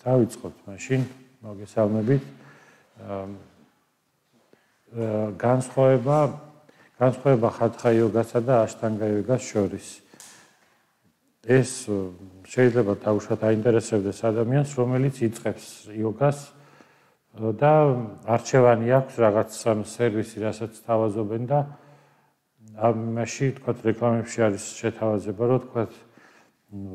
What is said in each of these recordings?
დავიწყოთ მაშინ მოგესალმებით. განსხვავება ხათხა იოგასა და აშტანგა იოგას შორის. ეს შეიძლება დაუშვათ აინტერესებდეს ადამიანს, რომელიც იწყებს იოგას და არჩევანი აქვს რაღაც სერვისი, რასაც თავაზობენ და ამაში თქვათ რეკლამებში არის შეთავაზება, რომ თქვათ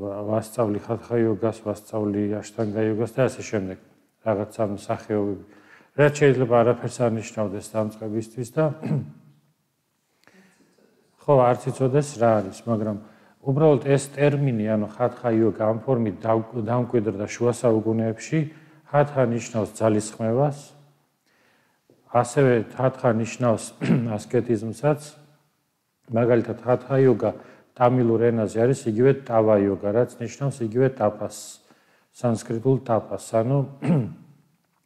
ვასწავლი ხათხა იოგას, ვასწავლი აშტანგა იოგას და ასე შემდეგ. რაღაც ამ სახეობები. რაც შეიძლება არაფერს არ ნიშნავდეს დამწყებისთვის და ხო, არც იცოდეს რა არის, მაგრამ უბრალოდ ეს ტერმინი, ანუ ხათხა იოგა ამ ფორმით დამკვიდრდა შუა საუკუნეებში, ხათხა ნიშნავს ძალისხმევას, ასევე ხათხა ნიშნავს ასკეტიზმსაც, მაგალითად ხათხა იოგა ტამილურ ენაზე არის იგივე ტავა იოგა, რაც ნიშნავს იგივე ტაპას, სანსკრიტულ ტაპას, ანუ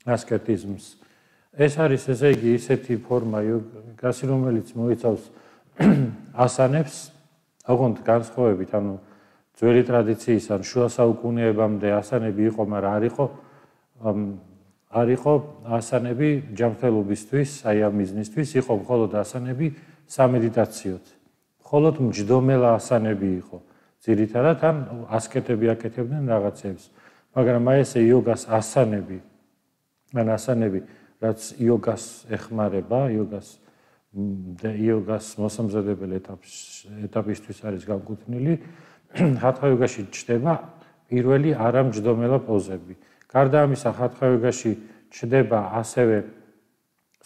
ასკეტიზმს. ეს არის ესე იგი ისეთი ფორმა იოგასი, რომელიც მოიცავს ასანებს, ოღონდ განსხვავებით, ანუ ძველი ტრადიციის ან შუა საუკუნეებამდე ასანები იყო, მაგრამ არ იყო ასანები ჯანმრთელობისთვის, აი ამ მიზნისთვის, იყო მხოლოდ ასანები სამედიტაციოდ. მხოლოდ მჯდომელა ასანები იყო. ძირითადად ან ასკეტები აკეთებდნენ რაღაცებს. მაგრამ აი ესე იოგას ასანები, რაც იოგას ეხმარება, იოგას მოსამზადებელ ეტაპისთვის არის განკუთვნილი, ხათხა იოგაში ჩნდება პირველი არამჯდომელა პოზები. გარდა ამისა, ხათხა იოგაში ჩნდება ასევე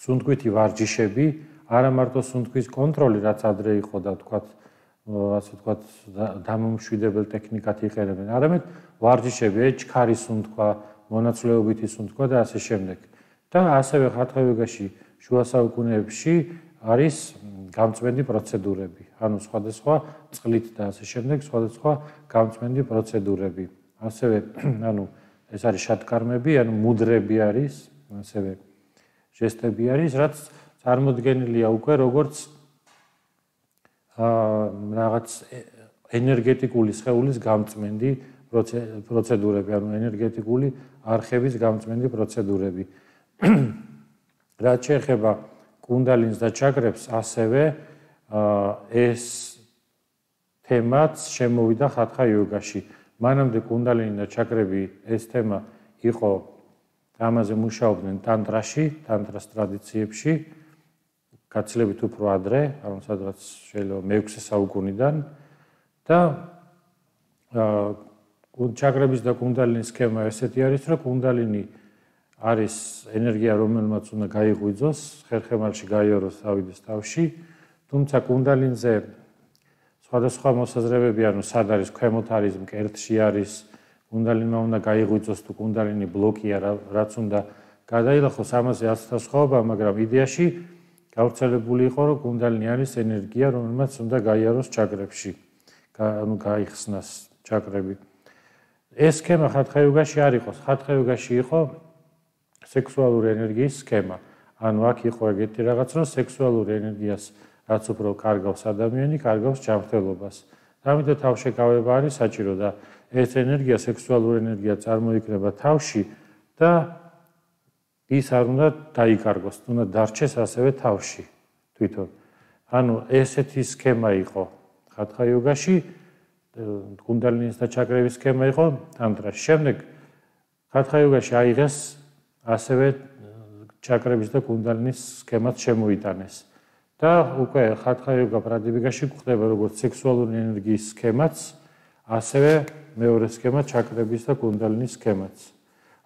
სუნთქვითი ვარჯიშები, არა მარტო სუნთქვის კონტროლი, რაც ადრე იყო და ასე ვთქვათ, დამომშვიდებელ ტექნიკად იყენებენ, არამედ ვარჯიშები, ჩქარი სუნთქვა, მონაცვლეობითი სუნთქვა და ასე შემდეგ. და ასევე ხათხა იოგაში შუა საუკუნეებში არის გამწვენდი პროცედურები, ანუ სხვადასხვა წყლით და ასე შემდეგ, სხვადასხვა გამწვენდი პროცედურები. ასევე, ანუ ეს არის შატკარმები, ანუ მუდრები არის, ასევე ჟესტები არის, რაც წარმოდგენილია უკვე როგორც რაღაც ენერგეტიკული სხეულის გამწმენდი პროცედურები, ანუ ენერგეტიკული არხების გამწმენდი პროცედურები. რაც შეეხება კუნდალინს და ჩაკრებს, ასევე ეს თემაც შემოვიდა ხათხა იოგაში. მანამდე კუნდალინი და ჩაკრები ეს თემა იყო, ამაზე მუშაობდნენ ტანტრაში, ტანტრას ტრადიციებში, გაცილებით უფრო ადრე, ანუ სადღაც შეიძლება მე-6 საუკუნიდან და ჩაკრების და კუნდალინის სქემა ესეთი არის, რომ კუნდალინი არის ენერგია, რომელმაც უნდა გაიღვიძოს, ხერხემალში გაიაროს, ავიდეს თავში, თუმცა კუნდალინზე სხვადასხვა მოსაზრებები, ანუ სად არის, ქვემოთ არის, მკერდში არის, კუნდალინმა უნდა გაიღვიძოს თუ კუნდალინი ბლოკია, რაც უნდა გადაილახოს, ამაზე ასთა სხვაობა, მაგრამ იდეაში გავრცელებული იყო, რომ კუნდალინი არის ენერგია, რომელმაც უნდა გაიაროს ჩაკრებში, ანუ გაიხსნას ჩაკრები. ეს სქემა ხათხა იოგაში არ იყო, ხათხა იოგაში იყო სექსუალური ენერგიის სქემა. ანუ აქ იყო ეგეთი რაღაც, რომ სექსუალური ენერგიას რაც უფრო კარგავს ადამიანი, კარგავს ჯანმრთელობას. ამიტომ თავშეკავება არის საჭირო და ეს ენერგია, სექსუალური ენერგია წარმოიქმნება თავში და ის არ უნდა დაიკარგოს, უნდა დარჩეს ასევე თავში თვითონ. ანუ ესეთი სქემა იყო ხათხა იოგაში, კუნდალინის და ჩაკრების სქემა იყო ტანტრაში. შემდეგ ხათხა იოგაში აიღეს ასევე ჩაკრების და კუნდალინის სქემაც შემოიტანეს. და უკვე ხათხა იოგა პრადიპიკაში გვხდება როგორც სექსუალური ენერგიის სქემაც, ასევე მეორე სქემა ჩაკრების და კუნდალინის სქემაც.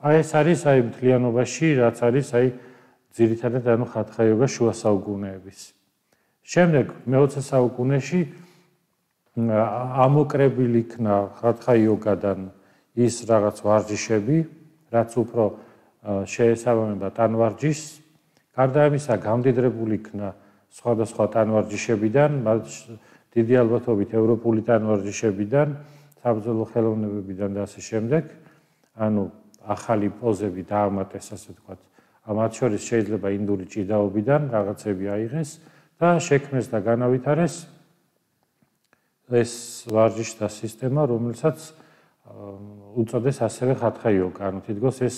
აი ეს არის აი მთლიანობაში, რაც არის აი ძირითადად ანუ ხათხა იოგა შუა საუკუნეების. შემდეგ მე-20 საუკუნეში ამოკრებილი იქნა ხათხა იოგადან ის რაღაც ვარჯიშები, რაც უფრო შეესაბამება ტანვარჯიშს. გარდა ამისა, გამდიდრებული იქნა სხვადასხვა ტანვარჯიშებიდან, დიდი ალბათობით ევროპული ტანვარჯიშებიდან, საბრძოლო ხელოვნებებიდან და ასე შემდეგ. ანუ ახალი პოზები დაამატეს, ასე ვთქვათ. მათ შორის შეიძლება ინდური ჭიდაობიდან რაღაცები აიღეს და შექმნეს და განავითარეს ეს ვარჯიშთა სისტემა, რომელსაც უწოდეს ასევე ხათხა იოგა, ანუ თითქოს ეს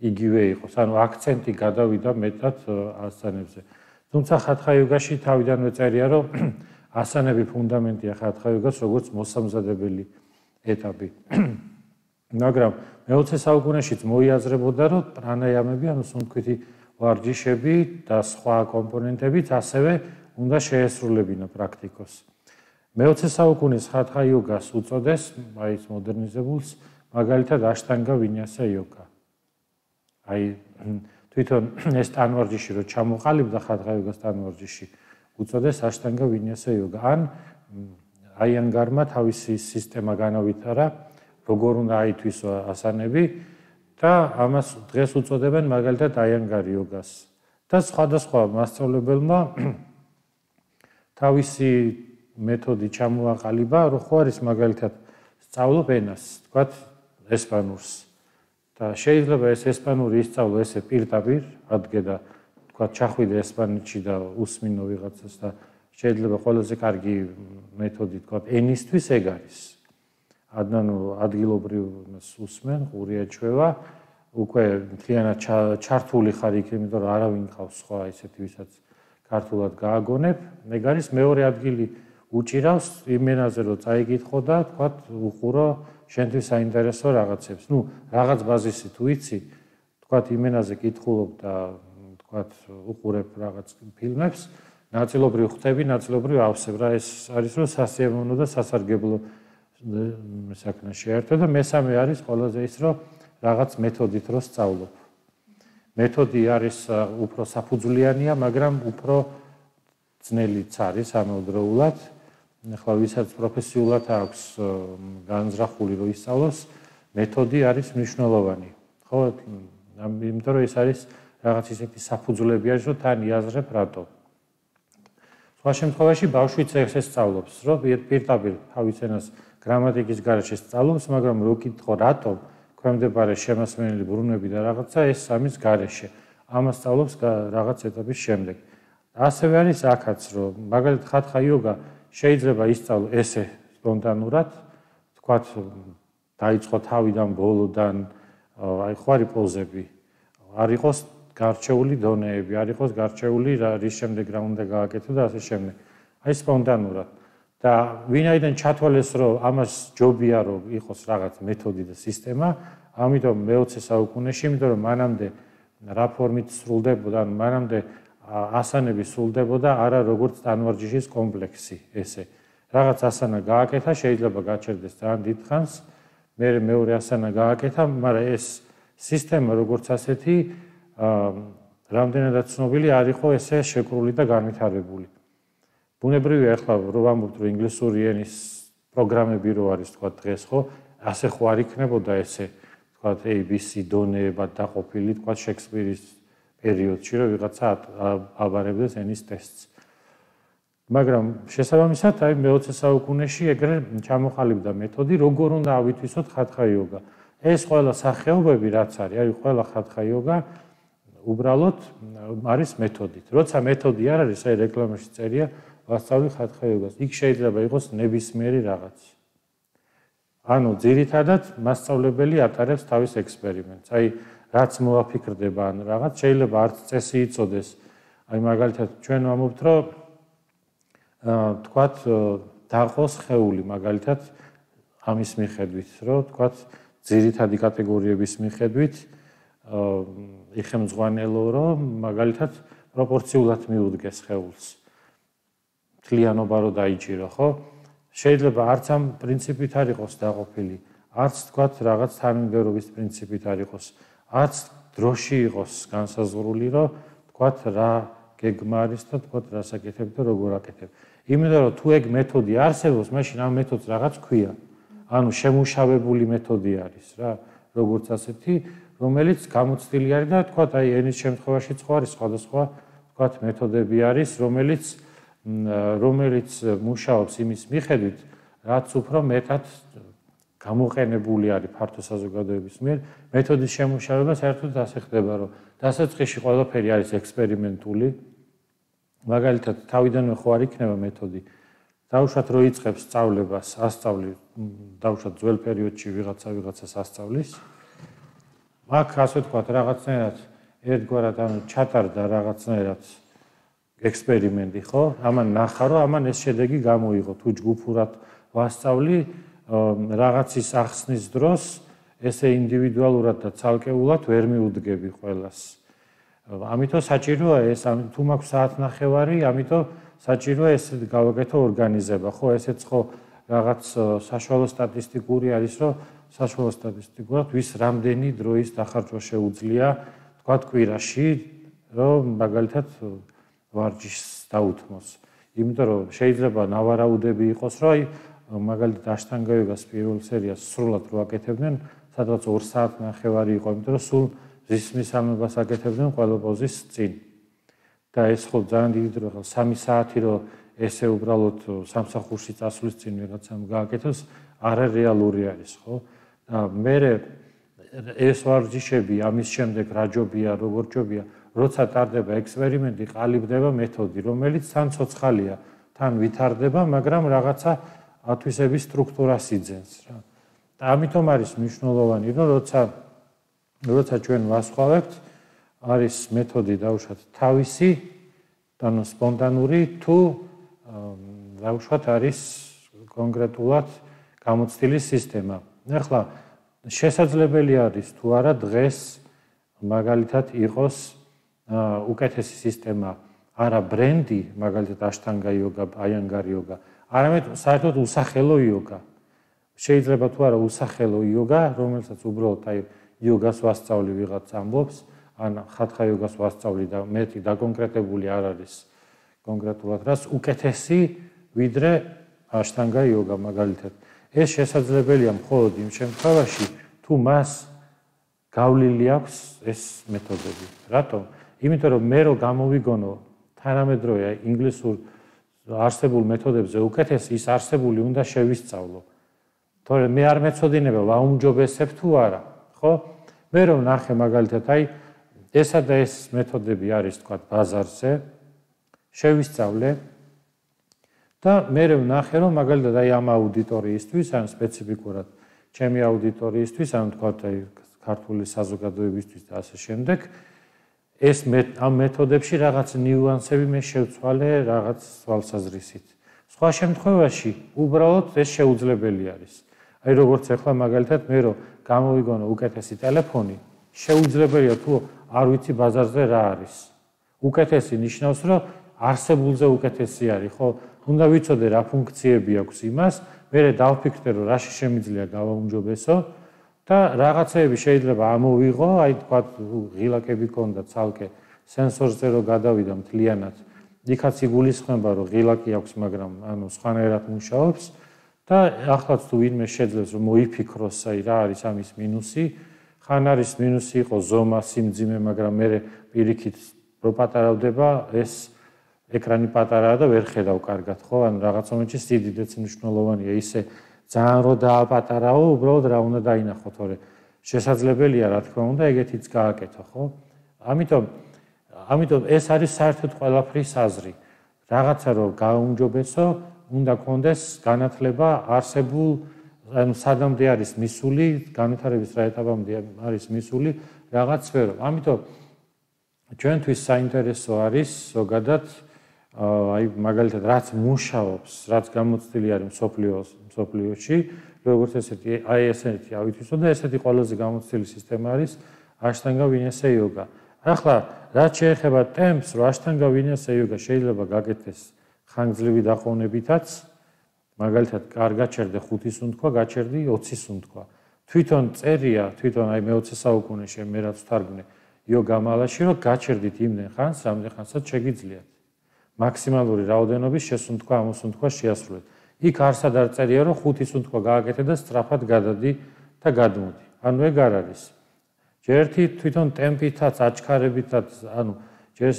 იგივე იყოს, ანუ აქცენტი გადავიდა მეტად ასანებზე. თუმცა ხათხა იოგაში თავიდანვე წერია, რომ ასანები ფუნდამენტია ხათხა იოგას, როგორც მოსამზადებელი ეტაპი. მაგრამ მე-20 საუკუნეშიც მოიაზრებოდა, რომ პრანაიამები, ანუ სუნთქვითი ვარჯიშები და სხვა კომპონენტებიც ასევე უნდა შეესრულებინა პრაქტიკოს. მე-20 საუკუნის ხათხა იოგას უწოდეს, აი ეს მოდერნიზებულს, მაგალითად აშტანგა ვინიასა იოგა. აი თვითონ ეს ტანვარჯიში რო ჩამოყალიბდა ხათხა იოგას ტანვარჯიში, უწოდეს აშტანგა ვინიასა იოგა. ან აიანგარმა თავისი სისტემა განავითარა, როგორ უნდა აითვისო ასანები და ამას დღეს უწოდებენ მაგალითად აიანგარი იოგას. და სხვადასხვა მასწავლებელმა თავისი მეთოდი ჩამოაყალიბა, რო ხო არის მაგალითად სწავლობ ენას, თქვათ ესპანურს. და შეიძლება ეს ესპანური ისწავლო ესე პირდაპირ, ადგე და თქვათ ჩახვიდე ესპანეთში და უსმინო ვიღაცას და შეიძლება ყველაზე კარგი მეთოდი თქვათ ენისთვის ეგ არის. ანუ ადგილობრივს უსმენ, ყურია ჩვევა, უკვე მთლიანად ჩართული ხარ იქ, იმიტომ რომ არავინ ყავს სხვა ისეთი, ვისაც ქართულად გააგონებ. ეგ არის მეორე ადგილი უჭირავს იმენაზე რომ წაიკითხო და თქვათ უყურო შენთვის საინტერესო რაღაცებს. ნუ რაღაც ბაზისი თუ იცი, თქვათ იმენაზე კითხულობ და თქვათ უყურებ რაღაც ფილმებს, ნაწილობრივ ხვდები, ნაწილობრივ ავსებ რა. ეს არის რომ სასიამოვნო და სასარგებლო საქმე შეერთო და მესამე არის ყველაზე ის რომ რაღაც მეთოდით რო სწავლობ. მეთოდი არის უფრო საფუძვლიანია, მაგრამ უფრო ძნელიც არის ამავდროულად. ახლა ვისაც პროფესიულად აქვს განზრახული რო ისწავლოს, მეთოდი არის მნიშვნელოვანი. ხო, იმიტომ რომ ეს არის რაღაც ისეთი საფუძვლები არის, რომ თან იაზრებ რატო. სხვა შემთხვევაში ბავშვიც ეს სწავლობს, რომ პირდაპირ თავის ენას გრამატიკის გარეშე სწავლობს, მაგრამ რო კითხო რატო, ქვემდებარე შემასმენელი ბრუნვები და რაღაცა ეს ამის გარეშე. ამას სწავლობს რაღაც ეტაპის შემდეგ. ასევე არის აქაც, რომ მაგალითად ხათხა იოგა შეიძლება ისწავლო ესე სპონტანურად, თქვათ დაიწყო თავიდან ბოლოდან, აი ხო არის პოზები, არ იყოს გარჩეული დონეები, არ იყოს გარჩეული რის შემდეგ რა უნდა გააკეთო და ასე შემდეგ. აი სპონტანურად. და ვინაიდან ჩათვალეს, რომ ამას ჯობია, რომ იყოს რაღაც მეთოდი და სისტემა, ამიტომ მე-20 საუკუნეში, იმიტომ რომ მანამდე რა ფორმით სრულდებოდა, ანუ მანამდე ასანები სრულდებოდა არა როგორც ტანვარჯიშის კომპლექსი ესე. რაღაც ასანა გააკეთა, შეიძლება გაჩერდეს ძალიან დიდ ხანს, მეორე ასანა გააკეთა, მაგრამ ეს სისტემა როგორც ასეთი რამდენადაც ცნობილი არ იყო ესე შეკრული და განვითარებული. ბუნებრივია ახლა რო ვამბობთ, რომ ინგლისური ენის პროგრამები რო არის თქვა დღეს, ხო, ასე ხო არ იქნებოდა ესე თქვა ABC დონეებად დაყოფილი, თქვა შექსპირის პერიოდში, რომ ვიღაცა აბარებდეს ენის ტესტს. მაგრამ შესაბამისად, აი მე-20 საუკუნეში ეგრე ჩამოყალიბდა მეთოდი, როგორ უნდა ავითვისოთ ხათხა იოგა. ეს ყველა სახეობები რაც არის, ყველა ხათხა იოგა უბრალოდ არის მეთოდით. როცა მეთოდი არ არის, აი რეკლამაში წერია, ვასწავლი ხათხა იოგას. იქ შეიძლება იყოს ნებისმიერი რაღაც. ანუ ძირითადად მასწავლებელი ატარებს თავის ექსპერიმენტს. აი რაც მოაფიქრდება ან რაღაც შეიძლება არც წესი იწოდეს. აი მაგალითად ჩვენ ვამბობთ, რომ თქვათ დაყოს ხეული მაგალითად ამის მიხედვით, რომ თქვათ ძირითადი კატეგორიების მიხედვით იხემძღვანელო, რომ მაგალითად პროპორციულად მიუდგეს ხეულს. მთლიანობა რო დაიჭირო, ხო? შეიძლება არც ამ პრინციპით არ იყოს დაყოფილი, არც თქვათ რაღაც თანმიმდევრობის პრინციპით არ იყოს. არც დროში იყოს განსაზღვრული, რომ თქვათ რა გეგმა არის და თქვათ რა საკეთებ და როგორ აკეთებ. იმიტომ რომ თუ ეგ მეთოდი არსებობს, მაშინ ამ მეთოდს რაღაც ქვია. ანუ შემუშავებული მეთოდი არის რა, როგორც ასეთი, რომელიც გამოცდილი არის და თქვათ აი ენის შემთხვევაში სხვა არის სხვადასხვა თქვათ მეთოდები არის, რომელიც მუშაობს იმის მიხედვით, რაც უფრო მეტად გამოყენებული არის ფართო საზოგადოების მიერ. მეთოდის შემუშავება საერთოდ ასე ხდება, რომ დასაწყისში ყველაფერი არის ექსპერიმენტული. მაგალითად, თავიდანვე ხო არ იქნება მეთოდი. დაუშვათ რო იწყებს სწავლებას, ასწავლი, დაუშვათ ძველ პერიოდში ვიღაცას ასწავლის. აქ ასე ვთქვათ, რაღაცნაირად ერთგვარად ჩატარდა რაღაცნაირად ექსპერიმენტი, ხო? ამან ნახა, რომ ამან ეს შედეგი გამოიღო, თუ ჯგუფურად ვასწავლი რაღაცის ახსნის დროს ესე ინდივიდუალურად და ცალკეულად ვერ მიუდგები ყველას. ამიტომ საჭიროა ეს, თუ მაქვს საათნახევარი, ამიტომ საჭიროა ეს გავაკეთო ორგანიზება, ხო, ესეც ხო რაღაც საშუალო სტატისტიკური არის, რომ საშუალო სტატისტიკურად ვის რამდენი დროის დახარჯვა შეუძლია, თქვა კვირაში, რომ მაგალითად ვარჯიშს დაუთმოს. იმიტომ რომ შეიძლება ნავარაუდები იყოს, რომ აი მაგალითად აშტანგა იოგას პირველ სერიას სრულად რო აკეთებდნენ, სადღაც 2 საათნახევარი იყო, იმიტომ რომ სულ ზისმის ამებას აკეთებდნენ ყველა პოზის წინ. და ეს ხო ძალიან დიდი დრო ხალ 3 საათი რო ესე უბრალოდ სამსახურში წასვლის წინ ვიღაცამ გააკეთოს, არარეალური არის, ხო? და მე ეს ვარჯიშები ამის შემდეგ რა ჯობია, როგორ ჯობია, როცა ტარდება ექსპერიმენტი, ყალიბდება მეთოდი, რომელიც თან ცოცხალია, თან ვითარდება, მაგრამ რაღაცა ათვისების სტრუქტურას იძენს რა. და ამიტომ არის მნიშვნელოვანი, რომ როცა ჩვენ ვასხავებთ, არის მეთოდი დაუშვათ თავისი, ანუ სპონტანური, თუ დაუშვათ არის კონკრეტულად გამოცდილი სისტემა. ახლა შესაძლებელი არის თუ არა დღეს მაგალითად იყოს უკეთესი სისტემა, არა ბრენდი, მაგალითად აშტანგა იოგა, აიანგარ იოგა, არამედ საერთოდ უსახელო იოგა. შეიძლება თუ არა უსახელო იოგა, რომელსაც უბრალოდ აი იოგას ვასწავლი ვიღაც ამბობს, ან ხათხა იოგას ვასწავლი და მეტი დაკონკრეტებული არ არის კონკრეტულად რას უკეთესი ვიდრე აშტანგა იოგა მაგალითად. ეს შესაძლებელია მხოლოდ იმ შემთხვევაში, თუ მას გავლილი აქვს ეს მეთოდები. რატომ? იმიტომ რომ მე რო გამოვიგონო თანამედროვე ინგლისურ არსებულ მეთოდებზე უკეთესი, ის არსებული უნდა შევისწავლო. თორემ მე არ მეცოდინება ვაუმჯობესებ თუ არა, ხო? მე რომ ნახე მაგალითად აი ესა და ეს მეთოდები არის თქვა ბაზარზე, შევისწავლე და მე ვნახე რომ მაგალითად აი ამ აუდიტორიისთვის, ან სპეციფიკურად ჩემი აუდიტორიისთვის, ან თქვა აი ქართული საზოგადოებისთვის და ასე შემდეგ, ეს ამ მეთოდებში რაღაც ნიუანსები მე შევცვალე რაღაც თვალსაზრისით. სხვა შემთხვევაში უბრალოდ ეს შეუძლებელი არის. აი როგორც ახლა მაგალითად მე რომ გამოვიგონო უკეთესი ტელეფონი, შეუძლებელია თუ არ ვიცი ბაზარზე რა არის. უკეთესი ნიშნავს რომ არსებულზე უკეთესი არის, ხო? უნდა ვიცოდე რა ფუნქციები აქვს იმას, მე დავფიქრდე რომ რაში შემიძლია გავაუმჯობესო და რაღაცეები შეიძლება ამოვიღო, აი თქვა ღილაკები ქონდა ცალკე სენსორზე რომ გადავიდა მთლიანად. იქაც იგულისხმება რომ ღილაკი აქვს, მაგრამ ანუ სხვანაირად მუშაობს და ახლაც თუ ვინმე შეძლებს რომ მოიფიქროს, აი რა არის ამის მინუსი, ხან არის მინუსი იყო ზომა, სიმძიმე, მაგრამ მე პირიქით რო პატარავდება ეს ეკრანი პატარაა და ვერ ხედავ კარგად, ხო? ან რაღაც მომენტში სიდიდეც მნიშვნელოვანია, ისე ძალიან რო დააპატარაო, უბრალოდ რა უნდა დაინახო, თორე შესაძლებელია, რა თქმა უნდა, ეგეთიც გააკეთო, ხო? ამიტომ ეს არის საერთოდ ყველაფრის აზრი. რაღაცა რო გააუმჯობესო, უნდა კონდეს განათლება არსებულ, ანუ სადამდე არის მისული, განვითარების რა ეტაპამდე არის მისული რაღაც სფერო. ამიტომ ჩვენთვის საინტერესო არის ზოგადად აი მაგალითად რაც მუშაობს, რაც გამოცდილი არის მსოფლიოში, როგორც ესეთი აი ესეთი ავითვისო და ესეთი ყველაზე გამოცდილი სისტემა არის აშტანგა ვინესე იოგა. ახლა რაც შეეხება ტემპს, რომ აშტანგა ვინესე იოგა შეიძლება გაკეთდეს ხანგრძლივი დაყოვნებითაც, მაგალითად კარგად ჩერდე 5 სუნთქვა, გაჩერდი 20 სუნთქვა. თვითონ წერია, თვითონ აი მე-20 საუკუნეში მე რაც ვთარგმნე იოგა მალაში, რომ გაჩერდით იმდენ ხანს, რამდენ ხანსაც შეგიძლიათ. მაქსიმალური რაოდენობის შესუნთქვა, ამოსუნთქვა შეასრულეთ. იქ არსად არ წერია, რომ 5 სუნთქვა გააკეთე და სწრაფად გადადი და გადმოდი. ანუ ეგ არ არის. ჯერ ერთი თვითონ ტემპითაც, აჩქარებითაც, ანუ ჯერ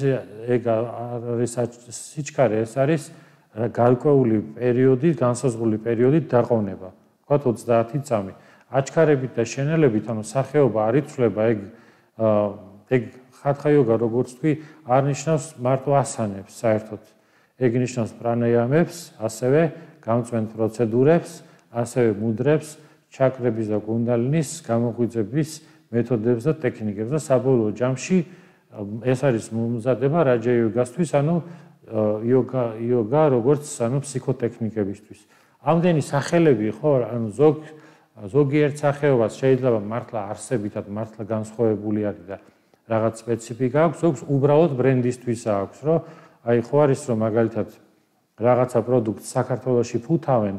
ეგ არის სიჩქარე, ეს არის გარკვეული პერიოდი, განსაზღვრული პერიოდი დაყოვნება. ვთქვათ 30 წამი. აჩქარებით და შენელებით, ანუ სახეობა არ იცვლება, ეგ ხათხა იოგა როგორც თქვი, არ ნიშნავს მარტო ასანებს საერთოდ. ეგ ნიშნავს პრანაიამებს, ასევე გამწვენ პროცედურებს, ასევე მუდრებს, ჩაკრების და კუნდალინის გამოღვიძების მეთოდებს და ტექნიკებს და საბოლოო ჯამში ეს არის მომზადება რაჯა იოგასთვის, ანუ იოგა როგორც ფსიქოტექნიკებისთვის. ამდენი სახელები ხო, ანუ ზოგიერთ სახეობას შეიძლება მართლა არსებითად მართლა განსხვავებული არის და რაღაც სპეციფიკა აქვს, ზოგს უბრალოდ ბრენდისთვის აქვს, რომ აი ხო არის რომ მაგალითად რაღაცა პროდუქტს საქართველოში ფუთავენ,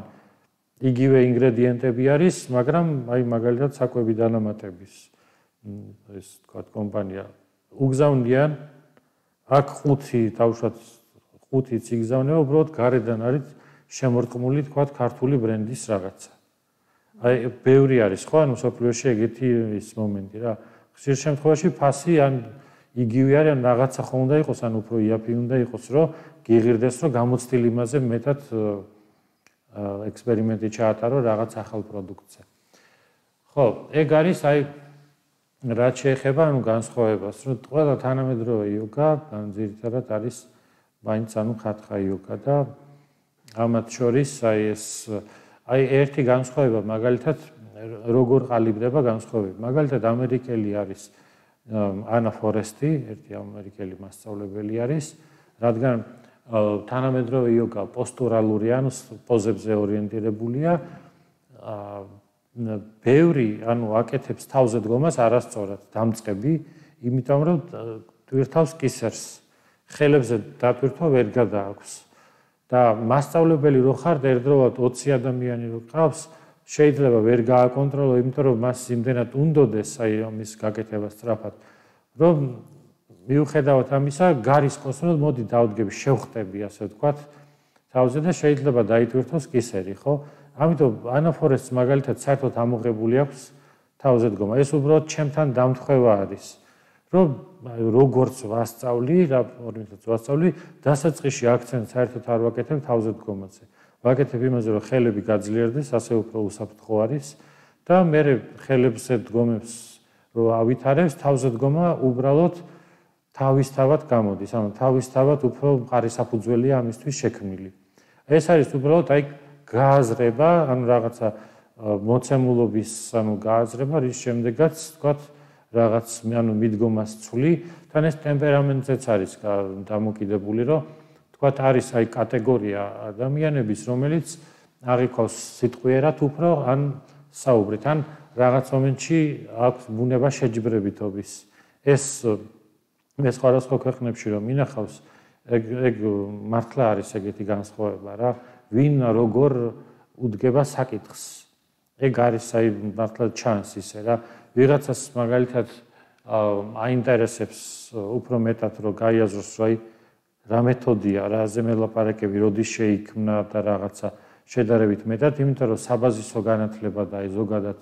იგივე ინგრედიენტები არის, მაგრამ აი მაგალითად საკვები დანამატების ეს თქვა კომპანია უგზავნიან აქ 5 იგზავნება, უბრალოდ გარედან არის შემორტყმული თქვა ქართული ბრენდის რაღაცა. აი ბევრი არის ხო, ანუ სოფლიოში ეგეთი ის მომენტი რა. ხშირ შემთხვევაში ფასი ან იგივე არის, ან რაღაცა ხო უნდა იყოს, ან უფრო იაფი უნდა იყოს, რომ გიღირდეს, რომ გამოცდილ იმაზე მეტად ექსპერიმენტი ჩაატარო რაღაც ახალ პროდუქტზე. ხო, ეგ არის აი რაც შეეხება ანუ განსხვავებას, რომ ყველა თანამედროვე იოგა ძირითადად არის მაინც ანუ ხათხა იოგა და ამათ შორის აი ეს აი ერთი განსხვავება მაგალითად როგორ ყალიბდება განსხვავება. მაგალითად ამერიკელი არის ანა ფორესტი, ერთი ამერიკელი მასწავლებელი არის, რადგან თანამედროვე იოგა პოსტურალური ანუ პოზებზე ორიენტირებულია. ბევრი ანუ აკეთებს თავზე დგომას არასწორად დამწყები, იმიტომ რომ ტვირთავს კისერს, ხელებზე დატვირთვა ვერ გადააქვს. და მასწავლებელი რო ხარ ერთდროულად 20 ადამიანი რო ყავს, შეიძლება ვერ გააკონტროლო, იმიტომ რომ მას იმდენად უნდოდეს აი ამის გაკეთება სწრაფად, რომ მიუხედავად ამისა, გარისკოს რომ მოდი დავდგები, შევხტები, ასე ვთქვათ, თავზე და შეიძლება დაიტვირთოს კისერი, ხო? ამიტომ ანაფორესტს მაგალითად საერთოდ ამოღებული აქვს თავზე დგომა. ეს უბრალოდ ჩემთან დამთხევა არის, რომ როგორც ვასწავლი, დასაწყისში აქცენტს საერთოდ არ ვაკეთებ თავზე დგომაზე. ვაკეთებ იმაზე, რომ ხელები გაძლიერდეს, ასე უფრო უსაფრთხო არის და მე ხელებზე დგომებს რო ავითარებს, თავზე დგომა უბრალოდ თავისთავად გამოდის, ანუ თავისთავად უფრო მყარი საფუძველია ამისთვის შექმნილი. ეს არის უბრალოდ აი გააზრება, ანუ რაღაცა მოცემულობის, ანუ გააზრება, რის შემდეგაც თქვათ რაღაც ანუ მიდგომას ცვლი, თან ეს ტემპერამენტზეც არის დამოკიდებული, რომ თქვათ არის აი კატეგორია ადამიანების, რომელიც აღიქვავს სიტყვიერად უფრო ან საუბრით, ან რაღაც მომენტში აქვს ბუნება შეჯიბრებითობის. ეს სხვადასხვა ქვეყნებში რომ ინახავს, ეგ მართლა არის ეგეთი განსხვავება რა. ვინ როგორ უდგება საკითხს. ეგ არის აი მართლა ჩანს ისე რა. ვიღაცას მაგალითად აინტერესებს უფრო მეტად რომ გაიაზროს, რომ აი რა მეთოდია, რაზე მელაპარაკები, როდის შეიქმნა და რაღაცა შედარებით მეტად, იმიტომ რომ საბაზისო განათლება და აი ზოგადად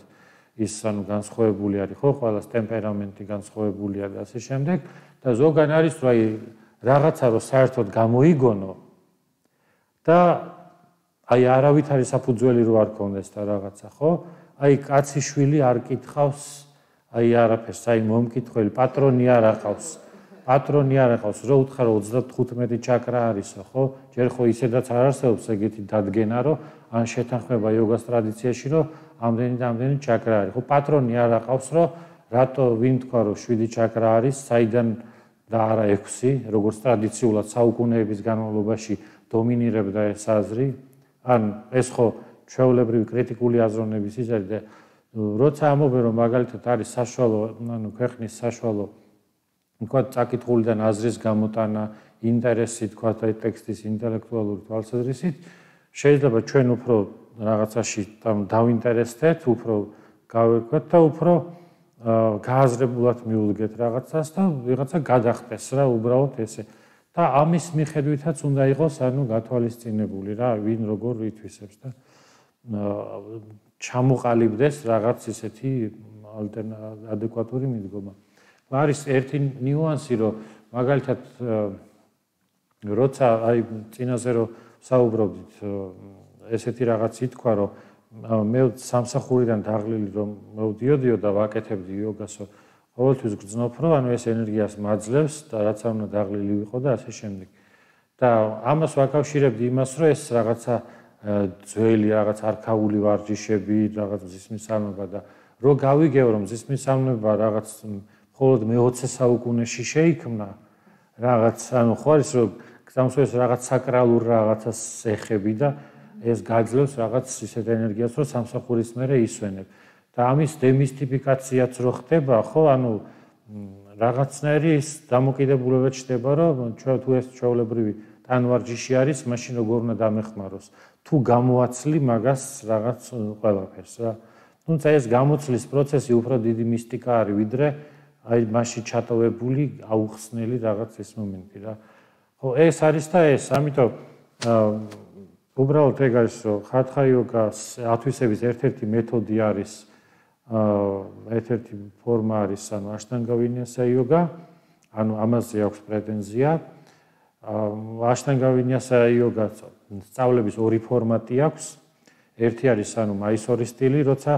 ის ანუ განსხვავებული არის, ხო, ყველას ტემპერამენტი განსხვავებულია და ასე შემდეგ და ზოგან არის რომ აი რაღაცა რომ საერთოდ გამოიგონო და აი არავითარი საფუძველი რო არ ქონდეს და რაღაცა, ხო? აი კაცი შვილი არ კითხავს, აი არაფერს, აი მომკითხველი პატრონი არ აყავს. პატრონი არ აყავს, რო უთხრა 35 ჩაკრა არისო, ხო? ჯერ ხო ისედაც არ არსებობს ეგეთი დადგენა, რომ ან შეთანხმება იოგას ტრადიციაში, რომ ამდენი და ამდენი ჩაკრა არის. ხო, პატრონი არ აყავს, რომ რატო ვინ თქვა, რომ 7 ჩაკრა არის, საიდან და არა 6, როგორც ტრადიციულად საუკუნეების განმავლობაში დომინირებდა ეს აზრი. ან ეს ხო ჩვეულებრივი კრიტიკული აზროვნების ის არის და როცა ამობენ რომ მაგალითად არის საშუალო, ანუ ქვეყნის საშუალო თქვა წაკითხულიდან აზრის გამოტანა, ინტერესი თქვა ტექსტის ინტელექტუალური თვალსაზრისით, შეიძლება ჩვენ უფრო რაღაცაში დავინტერესდეთ, უფრო გავეკვეთ და უფრო გააზრებულად მიულგეთ რაღაცას და ვიღაცა გადახტეს რა უბრალოდ ესე. და ამის მიხედვითაც უნდა იყოს ანუ გათვალისწინებული რა, ვინ როგორ ითვისებს და ჩამოყალიბდეს რაღაც ისეთი ადეკვატური მიდგომა. არის ერთი ნიუანსი, რომ მაგალითად როცა აი წინაზე რომ საუბრობდით, ესეთი რაღაც ითქვა, რომ მე სამსახურიდან დაღლილი რომ მოვდიოდიო და ვაკეთებდი იოგასო, ყოველთვის გრძნობ, რომ ანუ ეს ენერგიას მაძლევს და რაც არ უნდა დაღლილი ვიყო და ასე შემდეგ. და ამას ვაკავშირებდი იმას, რომ ეს რაღაცა ძველი რაღაც არქაული ვარჯიშები, რაღაც მზისმისამება და რო გავიგებ, რომ მზისმისამება რაღაც მხოლოდ მე-20 საუკუნეში შეიქმნა, რაღაც ანუ ხო არის რომ გზამსვეს რაღაც საკრალურ რაღაცას ეხები და ეს გაძლევს რაღაც ისეთ ენერგიას, რომ სამსახურის მერე ისვენებ. და ამის დემისტიფიკაციაც რო ხდება, ხო, ანუ რაღაცნაირი ის დამოკიდებულება ჩდება, რომ თუ ეს ჩვეულებრივი ტანვარჯიში არის, მაშინ როგორ უნდა დამეხმაროს. თუ გამოაცლი მაგას რაღაც ყველაფერს რა. თუმცა ეს გამოცლის პროცესი უფრო დიდი მისტიკა არის, ვიდრე აი მასში ჩატოვებული, აუხსნელი რაღაც ეს მომენტი რა. ხო, ეს არის და ეს, ამიტომ უბრალოდ ეგ არის, რომ ხათხა იოგას ათვისების ერთ-ერთი მეთოდი არის ერთ-ერთი ფორმა არის, ანუ აშტანგა ვინიასა იოგა, ანუ ამაზე აქვს პრეტენზია. აშტანგა ვინიასა იოგას სწავლების ორი ფორმატი აქვს. ერთი არის ანუ მაისორის სტილი, როცა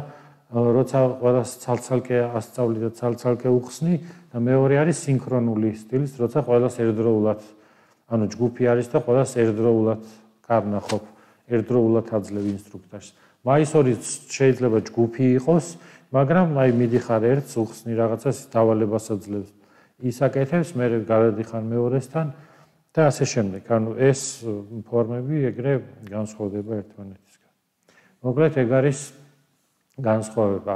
ყველას ცალ-ცალკე ასწავლი და ცალ-ცალკე უხსნი და მეორე არის სინქრონული სტილის, როცა ყველას ერთდროულად, ანუ ჯგუფი არის და ყველას ერთდროულად კარნახობ, ერთდროულად აძლევ ინსტრუქტორს. მაისორის შეიძლება ჯგუფი იყოს, მაგრამ აი მიდიხარ ერთს, უხსნი რაღაცას, დავალებას აძლევს. ისაკეთებს, მე გადადიხარ მეორესთან და ასე შემდეგ. ანუ ეს ფორმები ეგრე განსხვავდება ერთმანეთისგან. მოკლედ ეგ არის განსხვავება.